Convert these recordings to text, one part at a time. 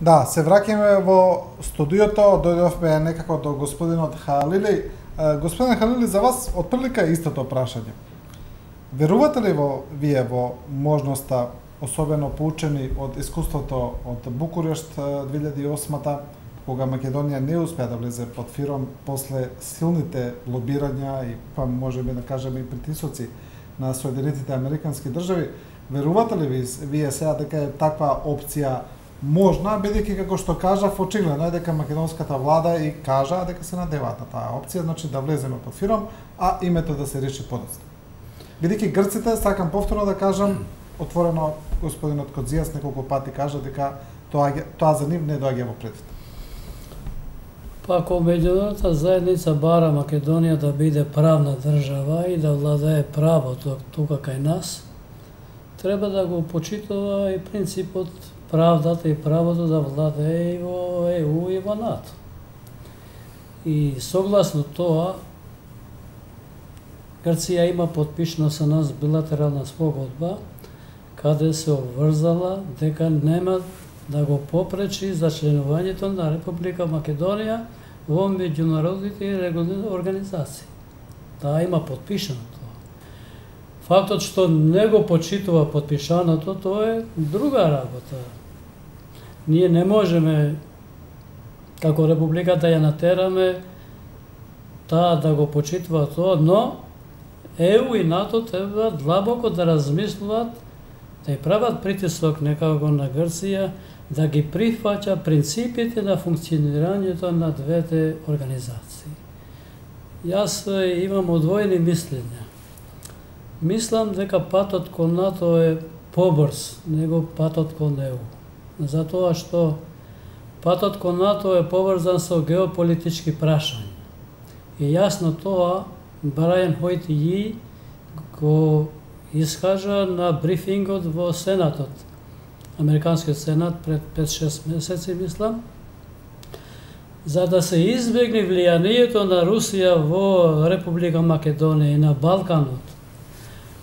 Да, се враќаме во студиото, дојдовме некако до господинот Халили. Господин Халили, за вас отприлика истото прашање. Верувате ли вие во можноста, особено поучени од искуството од Букурешт 2008-та, кога Македонија не успеа да влезе под ФИРОМ после силните лобирања и па можеме да кажеме и притисоци на Соединетите Американски држави, верувате ли вие сега дека е таква опција можна, бидејќи како што кажав, очигледно е дека македонската влада и кажа дека се надеваат на таа опција, значи да влеземе под ФИРОМ, а името да се реши подоцна. Бидејќи грците, сакам повторно да кажам, отворено господинот Кодзијас неколку пати кажа дека тоа за нив не доаѓа во предвид. Па ако меѓународната заедница бара Македонија да биде правна држава и да владее правото тука кај нас, треба да го почитува и принципот правдата и правото да владее и во ЕУ и во НАТО. И согласно тоа, Грција има подпишано со нас билатерална спогодба, каде се обврзала дека нема да го попречи за членувањето на Република Македонија во меѓународните и регионални организации. Таа има подпишано тоа. Фактот што не го почитува подпишаното, тоа е друга работа. Ние не можеме како Република да ја натераме таа да го почитува тоа, но ЕУ и НАТО треба длабоко да размислуваат, да ја прават притисок некако на Грција, да ги прифаќа принципите на функционирањето на двете организации. Јас имам одвоени мислења. Мислам дека патот кон НАТО е побрз него патот кон ЕУ. Затоа што патот кон НАТО е поврзан со геополитички прашања. И јасно тоа Брайан Хојтији го искажа на брифингот во Сенатот, Американскиот Сенат пред 5-6 месеци, мислам, за да се избегне влијанието на Русија во Република Македонија и на Балканот.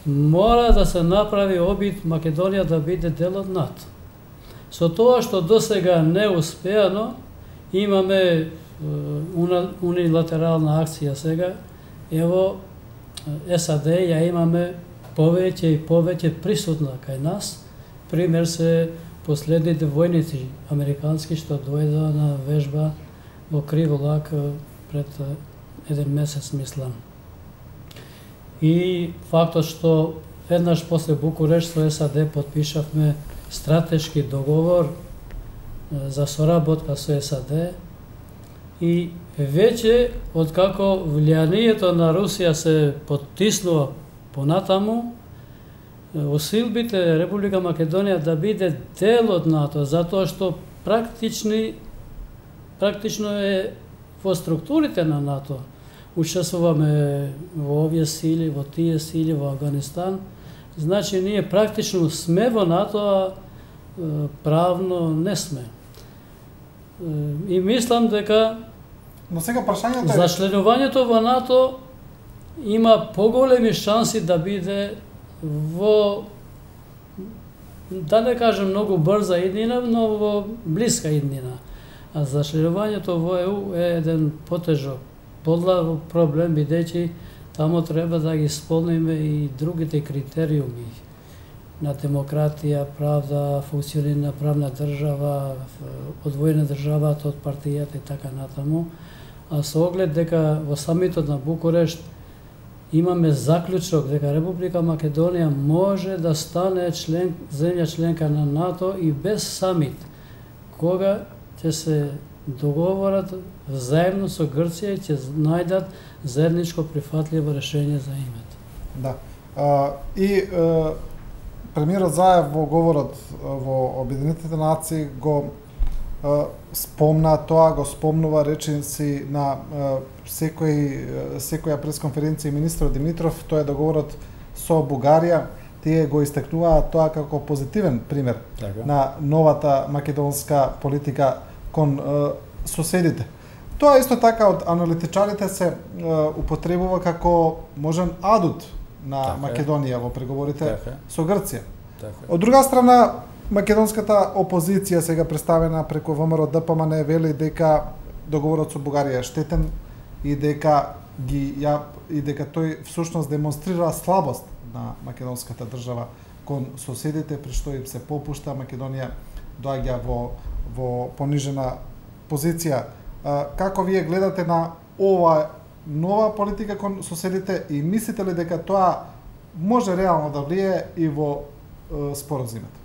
Мора да се направи обид Македонија да биде дел од НАТО. Со тоа што досега не успеано, имаме унилатерална акција сега, ево САД ја имаме повеќе и повеќе присутна кај нас. Пример се последните војници американски што дојдоа на вежба во Криволак пред еден месец, мислам. И фактот што веднаш после Букурешт со САД подпишавме стратешки договор за соработка со САД и веќе откако влијанието на Русија се поттиснува понатаму, усилбите Република Македонија да биде дел од НАТО, затоа што практично е во структурите на НАТО. Учествуваме во овие сили, во тие сили, во Афганистан. Значи, ние практично сме во НАТО, а правно не сме. И мислам дека но сега прашањето за членувањето во НАТО има поголеми шанси да биде во, да не кажем многу брза иднина, но во блиска иднина. А за членувањето во ЕУ е еден потежок, подлав проблем, бидејќи тамо треба да ги исполниме и другите критериуми на демократија, правда, функционирање на правна држава, одвоена државата од партијата и така натаму. А со оглед дека во самитот на Букурешт имаме заклучок дека Република Македонија може да стане земја членка на НАТО и без самит, кога ќе се договорат заедно со Грција и ќе најдат заедничко прифатливо решение за името. Да. Премиерот Заев во говорот во Обединетите нации го спомна тоа, го спомнува реченици на секоја пресконференција министрот Димитров, тоа е договорот со Бугарија. Тие го истакнуваат тоа како позитивен пример на новата македонска политика кон соседите. Тоа исто така од аналитичарите се употребува како можен адут на Македонија во преговорите со Грција. Од друга страна, Македонската опозиција сега представена преку ВМРО ДПМН вели дека договорот со Бугарија е штетен и дека тој всушност демонстрира слабост на македонската држава кон соседите, при што им се попушта. Македонија доаѓа во понижена позиција. Како вие гледате на ова нова политика кон соседите и мислите ли дека тоа може реално да влие и во споразумот?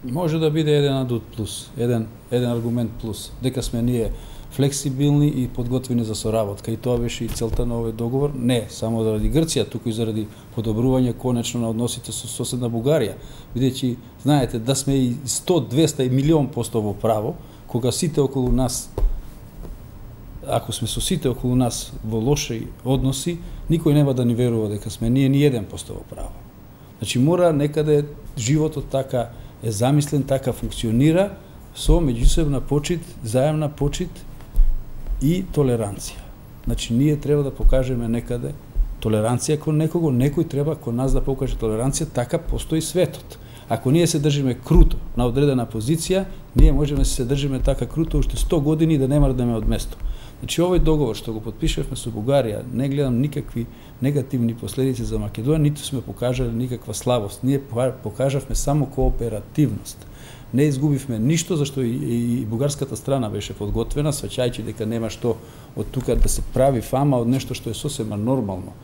Може да биде еден адут плюс, еден аргумент плюс, дека сме ние флексибилни и подготвени за соработка, и тоа беше и целта на овој договор, не само заради Грција, туку и заради подобрување конечно на односите со соседна Бугарија, бидејќи знаете да сме и 100, 200 и милион % во право, кога сите околу нас, ако сме со сите околу нас во лоши односи, никој нема да ни верува дека сме ние ни 1% во право. Значи мора некаде животот така е замислен, така функционира со меѓусебна почит, заемна почит и толеранција. Значи ние треба да покажеме некаде толеранција кон некого, некој треба кон нас да покаже толеранција, така постои светот. Ако ние се држиме круто на одредена позиција, ние можеме да се држиме така круто уште 100 години и да не мрдаме од место. Значи овој договор што го потпишавме со Бугарија, не гледам никакви негативни последици за Македонија, ниту сме покажале никаква слабост. Ние покажавме само кооперативност. Не изгубивме ништо, зашто и бугарската страна беше подготвена, сваќајќи дека нема што од тука да се прави фама од нешто што е сосема нормално.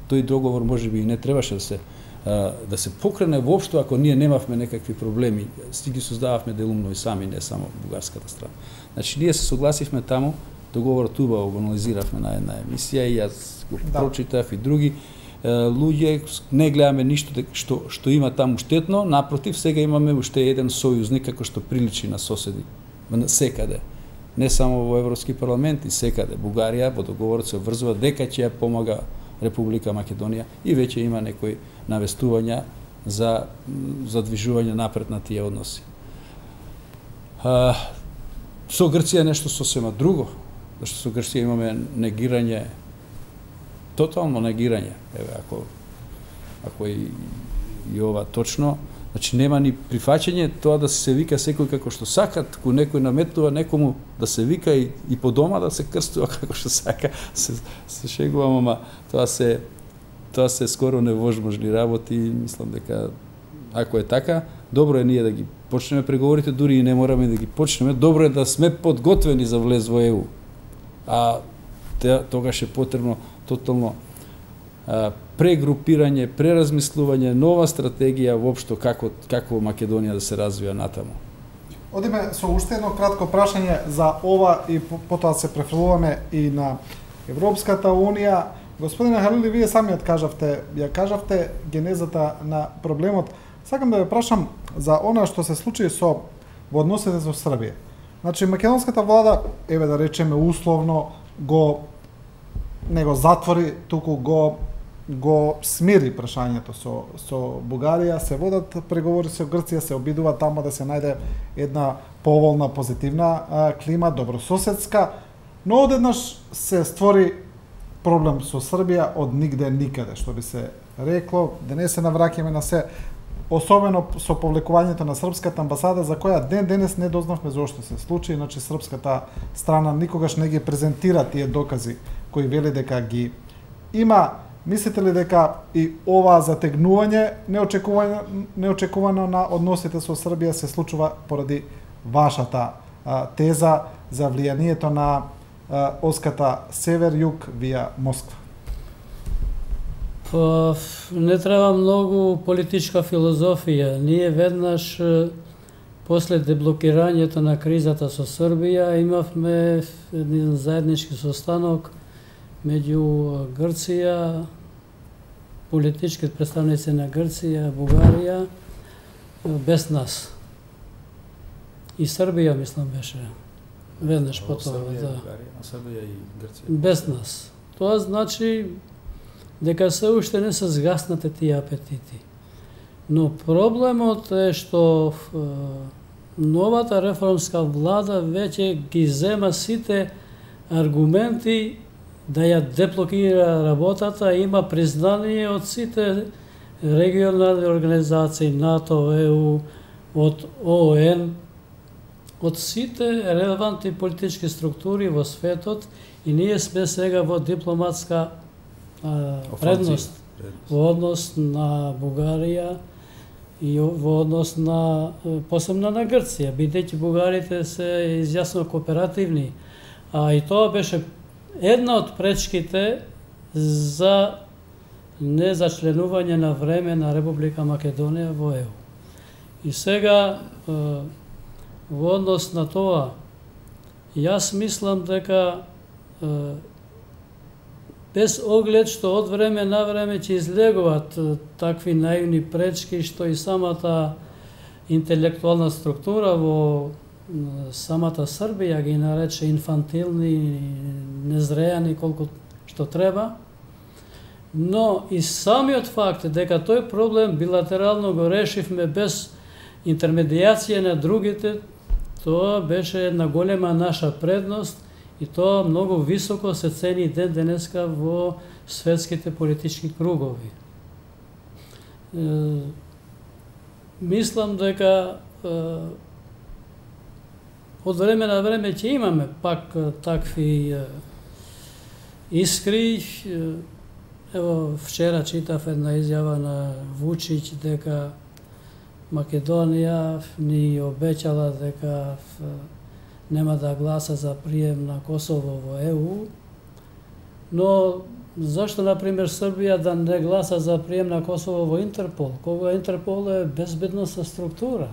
Тој договор можеби и не требаше да се покрене воопшто ако ние немавме некакви проблеми, си ги создававме делумно и сами, не само бугарската страна. Значи ние се согласивме таму, договорот убаво го анализиравме на една емисија и јас го прочитав и други луѓе, не гледаме ништо што има таму штетно, напротив, сега имаме уште еден сојузник како што приличи на соседи, секаде. Не само во Европски парламент, и секаде. Бугарија во договорот се обврзува дека ќе ја помага Република Македонија и веќе има некои навестувања за движување напред на тие односи. Со Грција нешто сосема друго, зашто со Грција имаме негирање, тотално негирање, ако и ова точно, значи нема ни прифаќање тоа да се вика секој како што сака, туку некој наметнува некому да се вика и по дома да се крстува како што сака, се шегувам, ама тоа се скоро невозможни работи, мислам дека ако е така, добро е ние да ги почнеме преговорите, дури и не мораме да ги почнеме, добро е да сме подготвени за влез во ЕУ. А тогаш е потребно тотално прегрупирање, преразмислување, нова стратегија воопшто како Македонија да се развива натаму. Одиме со уште едно кратко прашање за ова и потоа се префрлуваме и на Европската унија. Господине Халили, вие самиот кажавте генезата на проблемот. Сакам да ве прашам за она што се случи во односите со Србија. Значи македонската влада, еве да речеме условно, не го затвори, туку го смири прашањето со Бугарија, се водат преговори со Грција, се обидува таму да се најде една поволна, позитивна клима, добрососедска, но одеднаш се створи проблем со Србија од нигде никаде, што би се рекло, да не се навраќаме на се, особено со повлекувањето на српската амбасада, за која денес не дознавме зошто се случи, иначе српската страна никогаш не ги презентира тие докази кои вели дека ги има. Мислите ли дека и ова затегнување неочекувано на односите со Србија се случува поради вашата теза за влијанието на оската север-југ вија Москва? Не треба многу политичка филозофија. Ние веднаш после деблокирањето на кризата со Србија имавме еден заеднички состанок меѓу Грција, политички представници на Грција, Бугарија, без нас. И Србија, мислам, беше веднаш потоа. Србија и Грција. Без нас. Тоа значи дека се уште не се згаснате тие апетити. Но проблемот е што новата реформска влада веќе ги зема сите аргументи да ја деблокира работата, има признание од сите регионални организации, НАТО, ЕУ, од ООН, од сите релевантни политички структури во светот и ние сме сега во дипломатска предност во однос на Бугарија и во однос на посебно на Грција, бидејќи бугарите се изјасно кооперативни, и тоа беше една од пречките за незачленување на време на Република Македонија во ЕУ. И сега во однос на тоа, јас мислам дека без оглед што од време на време ќе излегуваат такви наивни пречки, што и самата интелектуална структура во самата Србија ги нарече инфантилни, незреани колку што треба, но и самиот факт дека тој проблем билатерално го решивме без интермедијација на другите, тоа беше една голема наша предност и тоа многу високо се цени ден денеска во светските политички кругови. Мислам дека од време на време ќе имаме пак такви искри. Ево, вчера читав една изјава на Вучич дека Македонија ни обеќала дека нема да гласа за прием на Косово во ЕУ, но зашто, например, Србија да не гласа за прием на Косово во Интерпол, кога Интерпол е безбедносна структура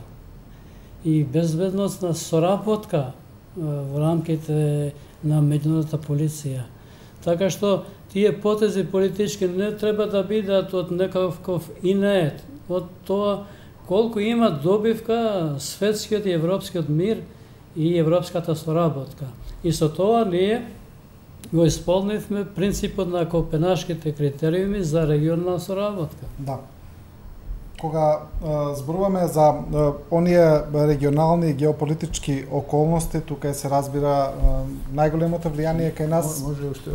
и безбедносна соработка во рамките на меѓународната полиција. Така што тие потези политички не треба да бидат од некаков инет, од тоа колку има добивка светскиот и европскиот мир и европската соработка. И со тоа ние го исполнивме принципот на Копенашките критериуми за регионална соработка. Да. Кога зборуваме за оние регионални геополитички околности, тука се разбира најголемото влијание кај нас. Може уште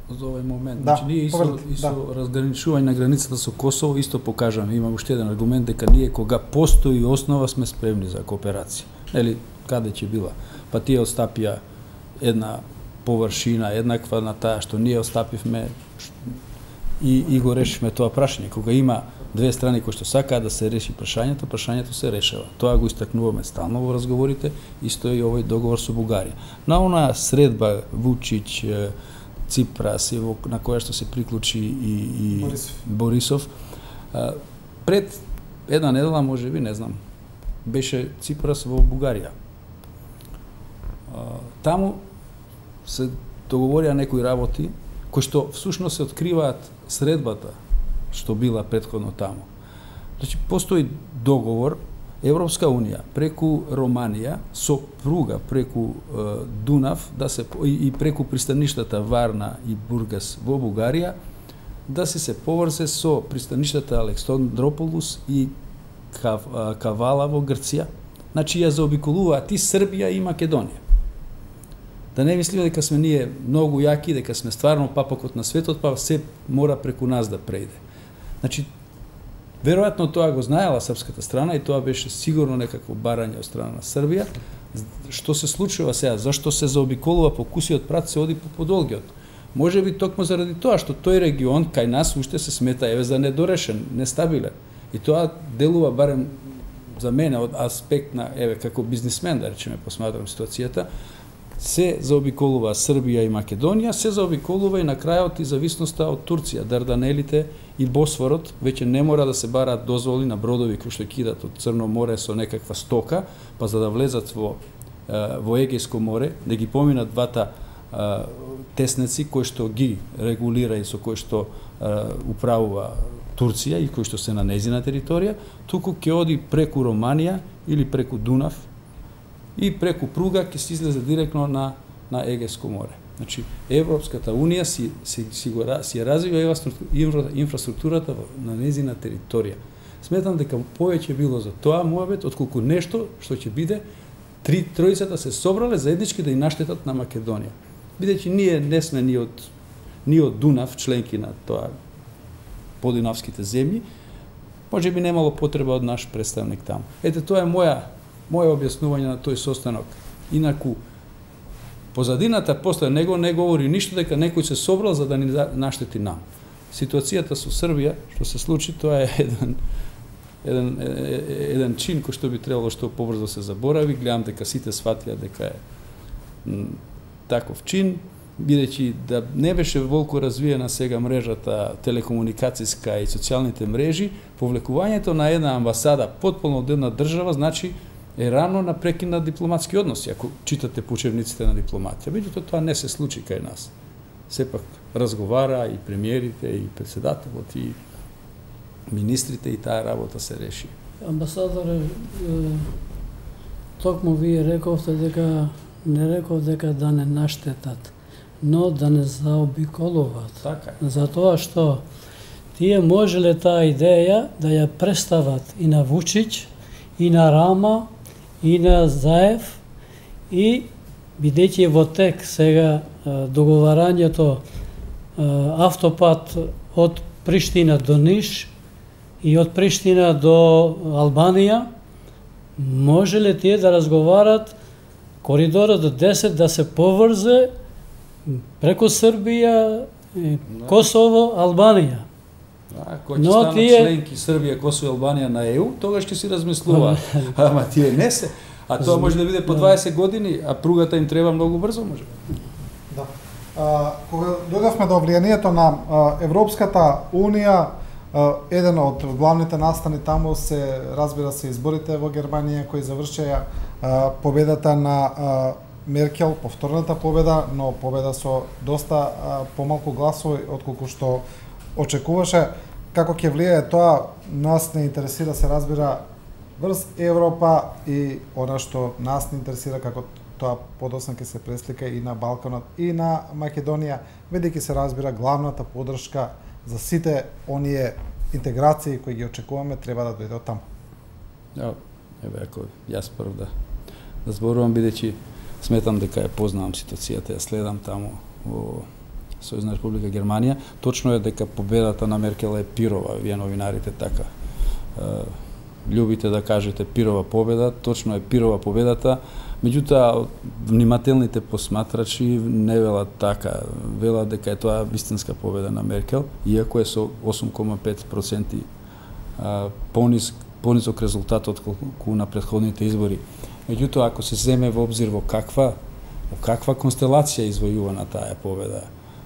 за овој момент. Да, значи, ние со разграничување на границата со Косово исто покажаме, има уште еден аргумент дека ние кога постои основа сме спремни за кооперација. Нели, каде ќе била? Па тие остапија една површина еднаква на таа што ние остапивме и го решивме тоа прашање. Кога има две страни кои што сакаат да се реши прашањето се решава. Тоа го истакнуваме стално во разговорите, исто и овој договор со Бугарија. На онаа средба Вучич, Ципрас, на која што се приклучи и Борисов, пред една недела, можеби, не знам, беше Ципрас во Бугарија. Таму се договорија некои работи кои што всушност се откриваат средбата што била претходно таму. Значи, постои договор Европска Унија преку Романија со пруга преку Дунав да се и преку пристаништата Варна и Бургас во Бугарија да се поврзе со пристаништата Александрополус и Кавала во Грција. Значи ја заобиколуваат и Србија и Македонија. Да не мислиме дека сме ние многу јаки, дека сме стварно папокот на светот, па се мора преку нас да прејде. Значи, веројатно тоа го знаела српската страна и тоа беше сигурно некакво барање од страна на Србија. Што се случува сега? Зашто се заобиколува по кусиот прат, се оди по подолгиот? Може би токму заради тоа што тој регион кај нас уште се смета за недорешен, нестабилен. И тоа делува барем за мене од аспект на како бизнисмен, да речеме, посматрам ситуацијата, се заобиколува Србија и Македонија, се заобиколува и на крајот и зависноста од Турција, Дарданелите и Босфорот, веќе не мора да се бараат дозволи на бродови кои што кидат од Црно море со некаква стока, па за да влезат во Егејско море, да ги поминат двата теснеци кои што ги регулира и со кои што управува Турција и кои што се на нејзина територија, туку ќе оди преку Романија или преку Дунав и преку пруга ќе се излезе директно на Егејско море. Значи, Европската Унија си развива инфраструктурата на нејзина територија. Сметам дека повеќе било за тоа муабет, отколку нешто што ќе биде тројцата се собрале заеднички да и наштетат на Македонија. Бидејќи ние не сме ни од Дунав, членки на тоа подунавските земји, може би немало потреба од наш представник таму. Ете, тоа е моje објаснување на тој состанок. Инаку, позадината после него не говори ништо дека некој се собрал за да ни наштети нам. Ситуацијата со Србија, што се случи, тоа е еден чин кој што би требало што побрзо се заборави. Гледам дека сите сватија дека е таков чин, бидејќи да не беше волку развиена сега мрежата телекомуникацијска и социјалните мрежи, повлекувањето на една амбасада потполно од една држава значи е рано на прекин на дипломатски односи, ако читате по учебниците на дипломатија. Меѓутоа тоа не се случи кај нас. Сепак разговара и премиерите, и председателот, и министрите, и таа работа се реши. Амбасадоре, токму вие рековте дека да не наштетат, но да не заобиколуваат. Така е. Затоа што тие можеле таа идеја да ја представат и на Вучич, и на Рама, и на Заев, и бидејќи во тек сега договарањето автопат од Приштина до Ниш и од Приштина до Албанија, можеле тие да разговарат коридорот до 10 да се поврзе преку Србија, Косово, Албанија. Кој ќе станат членки Србија, Косово и Албанија на ЕУ, тогаш ќе си размислуваат. Ама тие не се. А тоа може да биде по 20 години, а пругата им треба многу брзо, може. Да. Кога дојдовме до влијанието на Европската Унија, еден од главните настани таму се, разбира се, изборите во Германија кои завршеа победата на Меркел, повторната победа, но победа со доста помалку гласови отколку што очекуваше. Како ќе влијае тоа, нас не интересира, се разбира, врз Европа и она што нас не интересира како тоа подоцна ќе се преслика и на Балканот и на Македонија, бидејќи се разбира главната поддршка за сите оние интеграции кои ги очекуваме треба да дојде од таму. Еве, ако јас прв да зборувам, бидејќи сметам дека ја познавам ситуацијата, ја следам таму во Сојузна република Германија. Точно е дека победата на Меркел е пирова, вие новинарите така љубите да кажете пирова победа, точно е пирова победата, меѓутоа внимателните посматрачи не велат така, велат дека е тоа вистинска победа на Меркел, иако е со 8,5% понисок резултат отколку на претходните избори. Меѓутоа, ако се земе во обзир во каква констелација извојувана таа победа,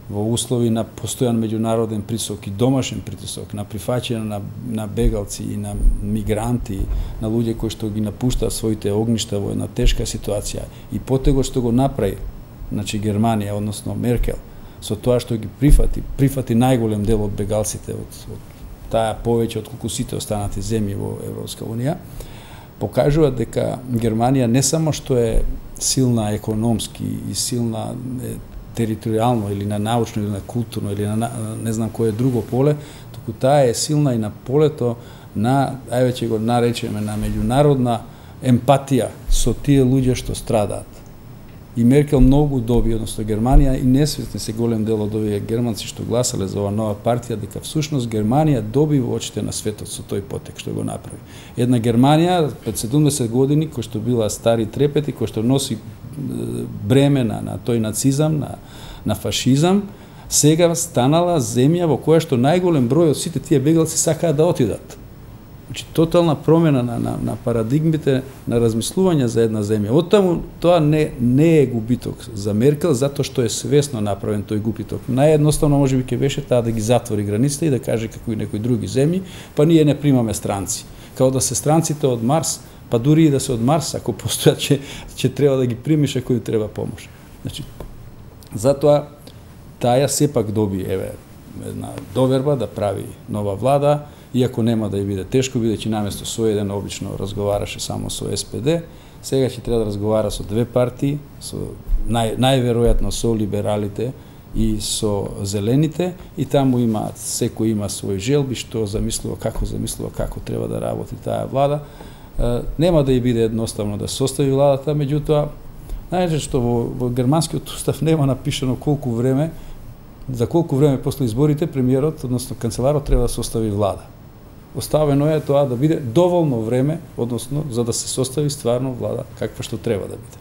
во услови на постојан меѓународен притисок и домашен притисок, на прифаќање на бегалци и на мигранти, на луѓе кои што ги напуштаат своите огништа во една тешка ситуација, и потего што го направи, значи Германија, односно Меркел, со тоа што ги прифати најголем дел од бегалците од таа повеќе отколку сите останати земји во Европска Унија, покажува дека Германија не само што е силна економски и силна територијално или на научно или на културно или на не знам кое друго поле, туку таа е силна и на полето на, ајде ќе го наречеме, на меѓународна емпатија со тие луѓе што страдаат. И Меркел многу доби, односно Германија, и несвесни се голем дел од овие германци што гласале за ова нова партија, дека всушност Германија доби во очите на светот со тој потек што го направи. Една Германија пред 70 години, кој што била стари трепети, кој што носи бремена на тој нацизам, на фашизам, сега станала земја во која што најголем број од сите тие бегалци сакаат да отидат. Значи, тотална промена на парадигмите на размислување за една земја. Оттаму тоа не е губиток за Меркел, затоа што е свесно направен тој губиток. Наједноставно можеби ќе беше таа да ги затвори границите и да каже како и некои други земји, па ние не примаме странци. Као да се странците од Марс, па дури и да се од Марс, ако постојат, ќе треба да ги примиш ако им треба помош. Значи, затоа таја сепак доби една доверба да прави нова влада, иако нема да ја биде тешко, бидејќи наместо со еден обично разговараше само со СПД, сега ќе треба да разговара со две партии, со најверојатно со либералите и со зелените, и таму секој има свој желби, што замислува, како треба да работи таа влада. Нема да ја биде едноставно да состави владата, меѓутоа, знаете што во германскиот устав нема напишано за колку време после изборите премиерот, односно канцеларот треба да состави влада. оставено е тоа да биде доволно време, односно за да се состави стварно влада каква што треба да биде.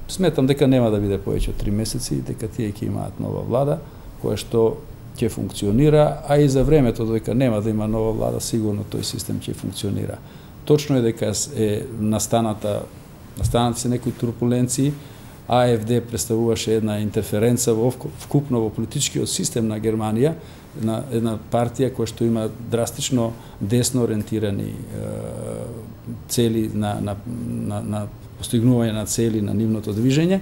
Сметам дека нема да биде повеќе од 3 месеци, дека тие ќе имаат нова влада која што ќе функционира, а и за времето додека нема да има нова влада, сигурно тој систем ќе функционира. Точно е дека е настанати се некои турбуленции. АФД представуваше една интерференца вкупно во политичкиот систем на Германија, на една партија која што има драстично десно ориентирани цели на постигнување на цели на нивното движење.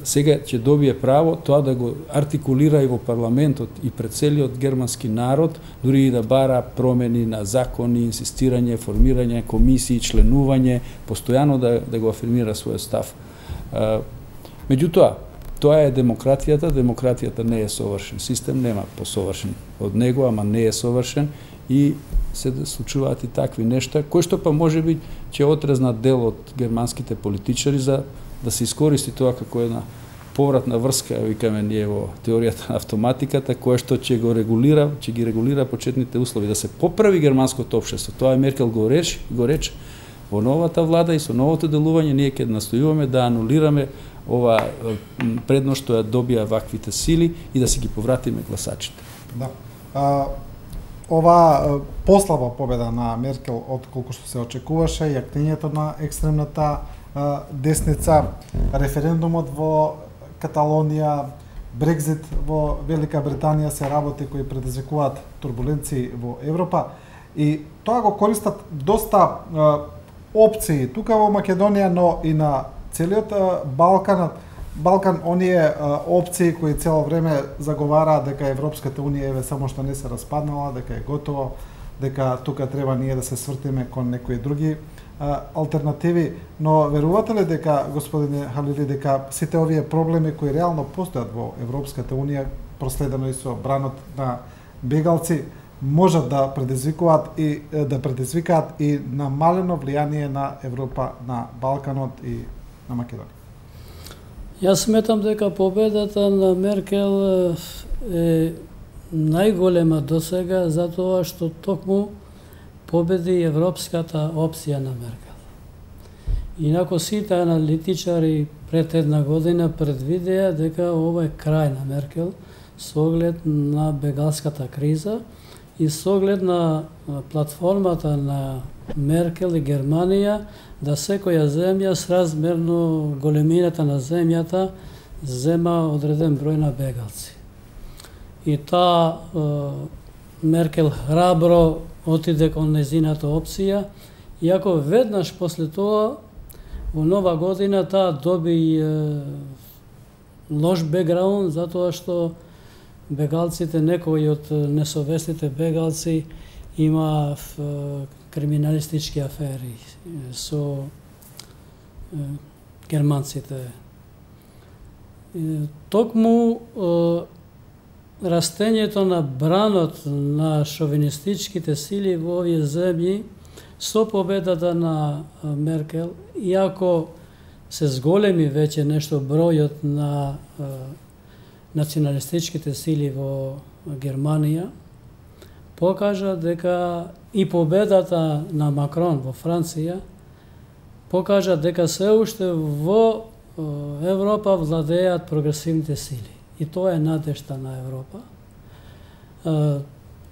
Сега ќе добие право тоа да го артикулира и во парламентот и пред целиот германски народ, дури и да бара промени на закони, инсистирање, формирање комисии, членување, постојано да го афирмира својот став. Меѓутоа, тоа е демократијата. Демократијата не е совршен систем, нема посовршен од него, ама не е совршен и се случуваат и такви нешта, кои што па можеби ќе отрезнат дел од германските политичари за да се искористи тоа како една повратна врска, викаме ние во теоријата на автоматиката, која што ќе ги регулира почетните услови, да се поправи германското општество. Тоа е Меркел го рече во новата влада и со новото делување ние ќе настојуваме да анулираме ова предност што ја добија ваквите сили и да си ги повратиме гласачите. Да. Ова послаба победа на Меркел од колку што се очекуваше, јакнењето на екстремната десница, референдумот во Каталонија, Брекзит во Велика Британија се работи кои предизвикуваат турбуленции во Европа и тоа го користат доста опции тука во Македонија, но и на целиот Балкан, оние опции кои цело време заговараат дека Европската унија еве само што не се распаднала, дека е готово, дека тука треба ние да се свртиме кон некои други алтернативи, но верувате ли дека, господине Халили, дека сите овие проблеми кои реално постојат во Европската унија, проследено и со бранот на бегалци, можат да предизвикаат и намалено влијание на Европа, на Балканот и на Македонија? Јас сметам дека победата на Меркел е најголема досега затоа што токму победи европската опција на Меркел. Инако сите аналитичари пред една година предвидеа дека ова е крај на Меркел со оглед на бегалската криза и со оглед на платформата на Меркел и Германија да секоја земја сразмерно големината на земјата зема одреден број на бегалци. И таа Меркел храбро отиде кон незината опција, иако веднаш после тоа во нова година таа доби лош бекграунд затоа што бегалците, некои од несовестите бегалци има криминалистички афери со германците. Токму растењето на бранот на шовинистичките сили во овие земји со победата на Меркел, иако се зголеми веќе нешто бројот на националистичките сили во Германија, покажа дека и победата на Макрон во Франција покажа дека се уште во Европа владеат прогресивните сили. И тоа е надежта на Европа.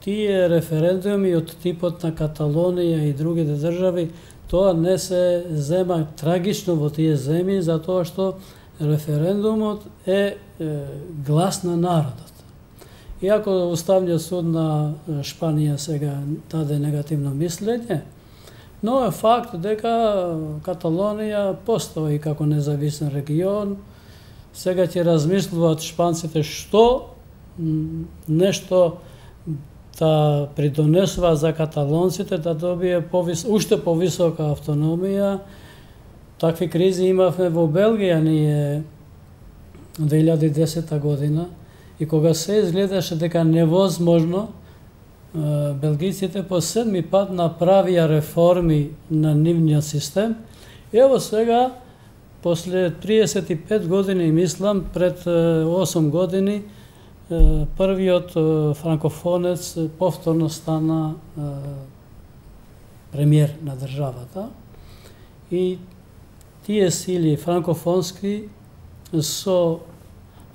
Тие референдуми од типот на Каталонија и другите држави, тоа не се зема трагично во тие земји, затоа што референдумот е глас на народот. Иако Уставниот суд на Шпанија сега даде негативно мислење, но е факт дека Каталонија постои како независен регион. Сега ќе размислуваат шпанците што нешто да придонесува за каталонците да добие уште повисока автономија. Такви кризи имавме во Белгија ние 2010 година и кога се изгледаше дека невозможно, белгиците по 7 пат направија реформи на нивниот систем. Ево сега, после 35 години, мислам, пред 8 години, првиот франкофонец повторно стана премиер на државата и тие сили франкофонски со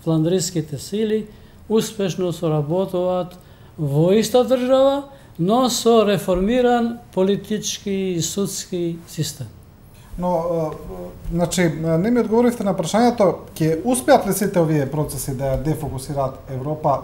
фландриските сили успешно соработуваат во иста држава, но со реформиран политички и судски систем. Но, значи, не ми одговоривте на прашањето, ќе успеат ли сите овие процеси да ја дефокусираат Европа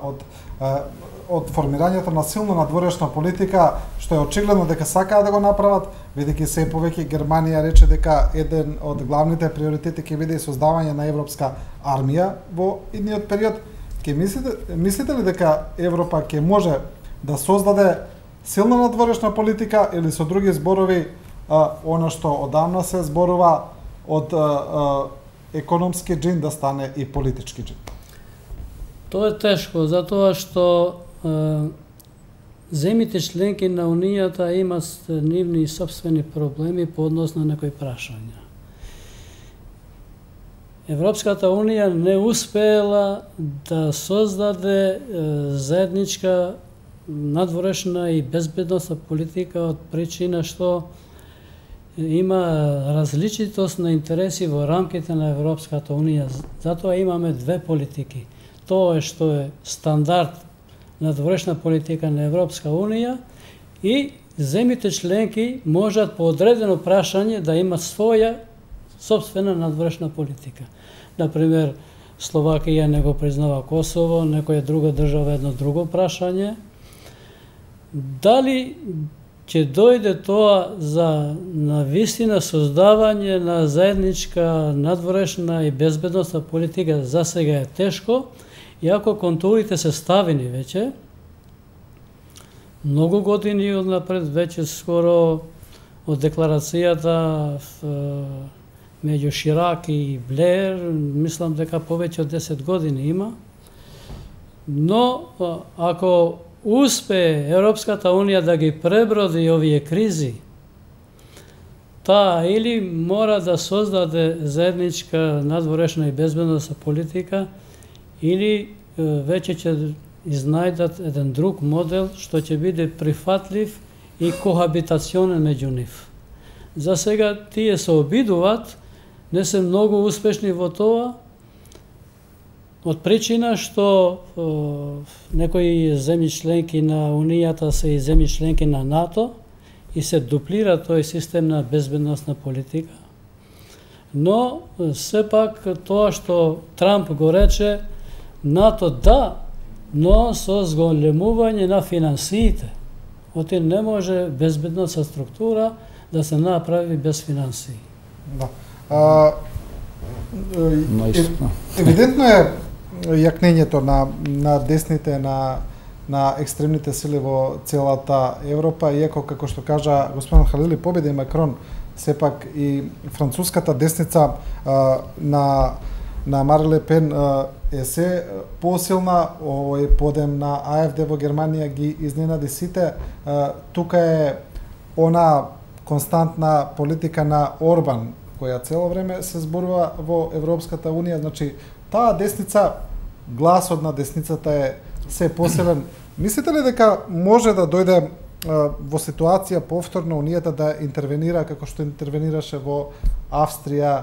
од формирањето на силна надворешна политика, што е очигледно дека сакаат да го направат, бидејќи се повеќе Германија рече дека еден од главните приоритети ќе биде создавање на европска армија во идниот период. Мислите ли дека Европа ќе може да создаде силна надворешна политика или со други зборови она што одамна се зборува од економски джин да стане и политички джин? Тоа е тешко, затоа што земите членки на Унијата имат нивни собствени проблеми по однос на некои прашања. Европската Унија не успеела да создаде заедничка надворешна и безбедносна политика од причина што има различитост на интереси во рамките на Европската Унија. Затоа имаме две политики. Тоа е што е стандард надворешна политика на Европска Унија и земите членки можат по одредено прашање да имат своја собствена надворешна политика. Например, Словакија не го признава Косово, некоја друга држава едно друго прашање. Дали ќе дојде тоа за навистина создавање на заедничка надворешна и безбедносна политика, за сега е тешко, иако контурите се ставени веќе. Многу години однапред, веќе скоро од декларацијата меѓу Ширак и Блер, мислам дека повеќе од 10 години има. Но ако успее Европската Унија да ги преброди овие кризи, таа или мора да создаде заедничка надворешна и безбедносна политика, или веќе ќе изнајдат еден друг модел што ќе биде прифатлив и кохабитационен меѓу нив. За сега тие се обидуваат, не се многу успешни во тоа, од причина што некои земји членки на Унијата се и земји членки на НАТО и се дуплира тој систем на безбедносна политика. Но сепак тоа што Трамп го рече, НАТО да, но со зголемување на финансиите. Оти не може безбедносна структура да се направи без финансии. Да. Евидентно е јакнењето на десните, на екстремните сили во целата Европа, иако, како што кажа господин Халили, победи Макрон, сепак и француската десница на Марин Ле Пен е се посилна, овој подем на АФД во Германија ги изненади сите. Тука е она константна политика на Орбан, која цело време се зборува во Европската Унија, значи таа десница, гласот на десницата е се посилен. Мислите ли дека може да дојде во ситуација повторно Унијата да интервенира како што интервенираше во Австрија,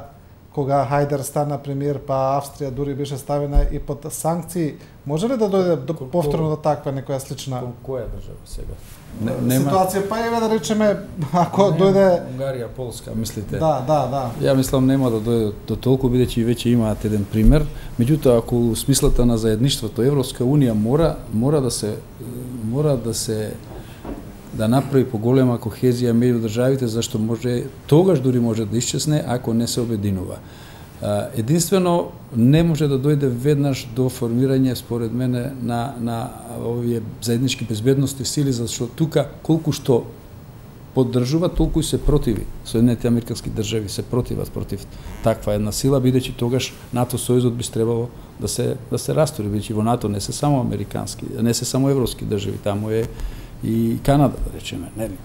кога Хајдер стана премиер, па Австрија дури беше ставена и под санкции? Може ли да дојде повторно до таква некоја слична која држава сега? Ситуација, па еве да речеме, ако дојде Унгарија, Полска, мислите? Да. Ја мислам нема да дојде до толку, бидејќи веќе имаат еден пример. Меѓутоа, ако смислата на заедништвото, Европска Унија мора да направи поголема кохезија меѓу државите, зашто тогаш дури може да исчезне ако не се обединува. Единствено не може да дојде веднаш до формирање, според мене, на овие заеднички безбедности сили, зашто тука колку што поддржува, толку и се противи. Соединените американски држави се противат против таква една сила, бидејќи тогаш НАТО сојузот би требало да се растури, бидејќи во НАТО не се само американски, не се само европски држави, таму е и Канада, да речеме, нели?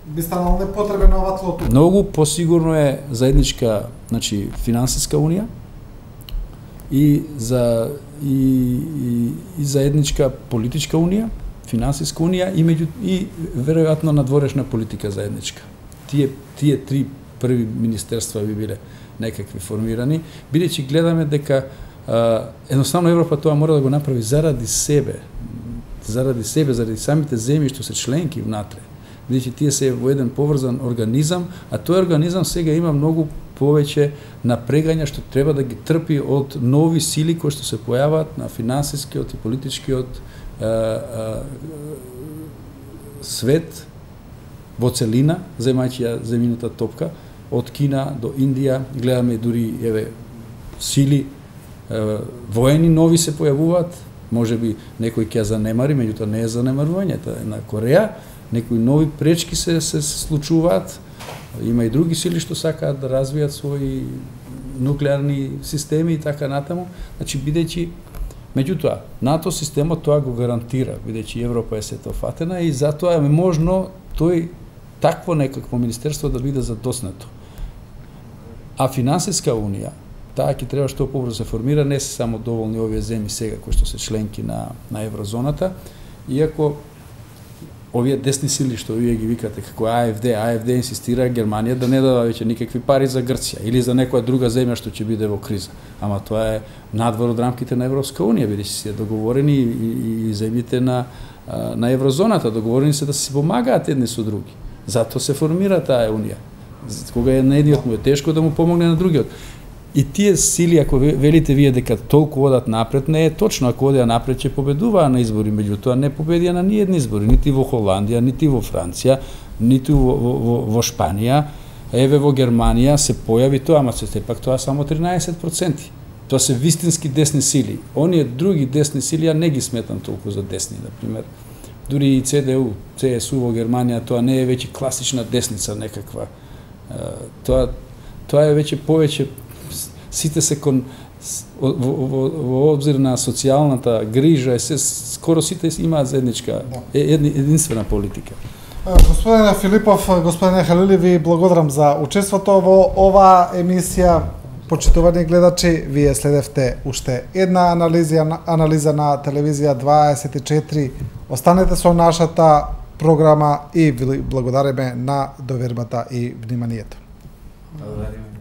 Би станало непотребен ова многу посигурно е заедничка, значи, финансиска унија и заедничка политичка унија, финансиска унија и веројатно надворешна политика заедничка. Тие три први министерства би биле некакви формирани, бидејќи гледаме дека едноставно Европа тоа мора да го направи заради себе, заради самите земји што се членки внатре. Бидејќи тие се во еден поврзан организам, а тој организам сега има многу повеќе напрегања што треба да ги трпи од нови сили кои што се појават на финансискиот и политичкиот свет во целина, земајќи ја земјината топка, од Кина до Индија, гледаме дури сили воени нови се појавуваат, можеби некој ќе занемари, меѓутоа не е занемарувањето на Кореја, некои нови пречки се случуваат, има и други сили што сакаат да развијат своји нуклеарни системи и така натаму, значи бидејќи меѓутоа НАТО системот тоа го гарантира, бидејќи Европа е сетофатена и затоа е можно такво некакво министерство да биде задоснато. А финансиска унија, таа ќе треба што побрзо се формира, не се само доволни овие земји сега кои што се членки на еврозоната, иако овие десни сили што вие ги викате како АФД инсистира Германија да не дава веќе никакви пари за Грција или за некоја друга земја што ќе биде во криза. Ама тоа е надвор од рамките на Европска унија, бидејќи се договорени и земјите на еврозоната, договорени се да се помагаат едни со други. Затоа се формира таа унија. Кога е на едниот му е тешко да му помогне на другиот. И тие сили, ако велите вие дека толку одат напред, не е точно. Ако одеа напред, ќе победуваа на избори, меѓутоа не победија на ниедни избори, нити во Холандија, нити во Франција, нити во Шпанија. Еве во Германија се појави тоа, ама сепак тоа само 13%. Тоа се вистински десни сили. Оние други десни сили ја не ги сметам толку за десни, например. Дури и ЦДУ, ЦСУ во Германија, тоа не е веќе класична десница некаква. Тоа е веќе повеќе сите се во обзир на социјалната грижа, скоро сите имаат заедничка, единствена политика. Господине Филипов, господине Халили, ви благодарам за учеството во оваа емисија. Почитувани гледачи, вие следевте уште една анализа на телевизија 24. Останете со нашата програма и ви благодариме на довербата и вниманието. Благодариме.